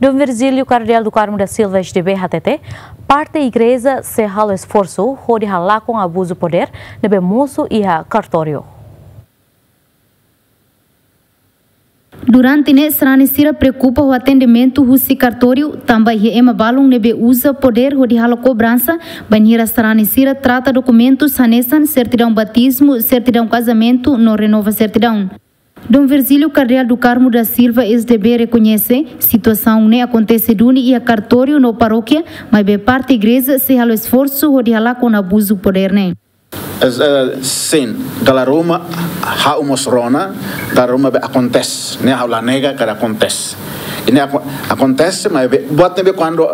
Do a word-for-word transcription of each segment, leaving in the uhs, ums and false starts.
Dom Virgílio Cardeal do Carmo da Silva, S D B, hatete parte igreja sei halo esforsu hodi halakon abuzu podér ne'ebé mosu iha kartóriu. Durante ne'e, sarani sira preokupa ho atendimentu husi kartóriu, tanba iha ema balun ne'ebé uza podér hodi halo kobransa, bainhira sarani sira trata dokumentus hanesan sertidaun batizmu, sertidaun kazamentu no renova sertidaun. Dom Virgílio Cardeal do Carmo da Silva, S D B, rekoñese situasaun ne'e akontese duni iha kartóriu no parókia, maibé parte igreja sei halo esforsu hodi halakon abuzu podér ne'e. Es, eh, sin, dala ruma ha'u mós rona, dala ruma be akontese, ne'e ha'u la nega katak akontese. I ne'e ako-, akontese, maibé buat ne'ebé kuandu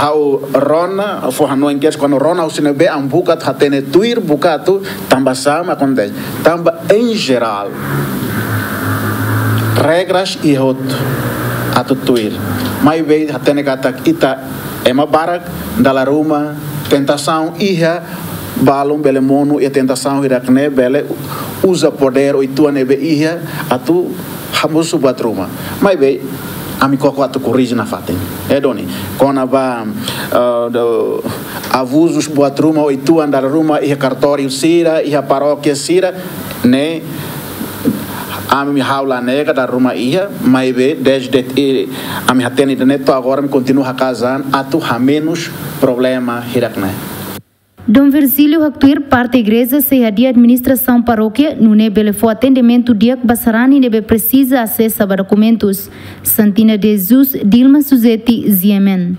ha'u rona, fó hanoin kedas, kuandu rona husi ne'ebé ami buka atu hatene tuir, buka atu tanba sá mak akontese. Tanba em geral, regras iha hotu atu tuir. Maibé hatene katak ita ema barak, dala ruma tentasaun iha, balun bele monu iha tentasaun hirak-ne'e bele uza podér uitoan ne'ebé iha atu hamosu buat ruma. Maibé ami koko atu korrije nafatin. Eh, duni. Kona-ba, eh, do, abuzus buat ruma uitoan dala ruma iha kartóriu sira, iha parókia sira, ne'e ami ha'u la nega dala ruma iha, maibé desde, eh, ami hatene ida-ne'e to'o agora ami kontinua haka'as an atu hamenus problema hirak-ne'e. Dom Virgílio haktuir parte igreja sei hadi'a administrasaun parókia, nune'e bele fó atendimentu di'ak ba sarani ne'ebé presiza asesa ba dokumentus. Santina de Jesus, Dilma Suzeti, G M N.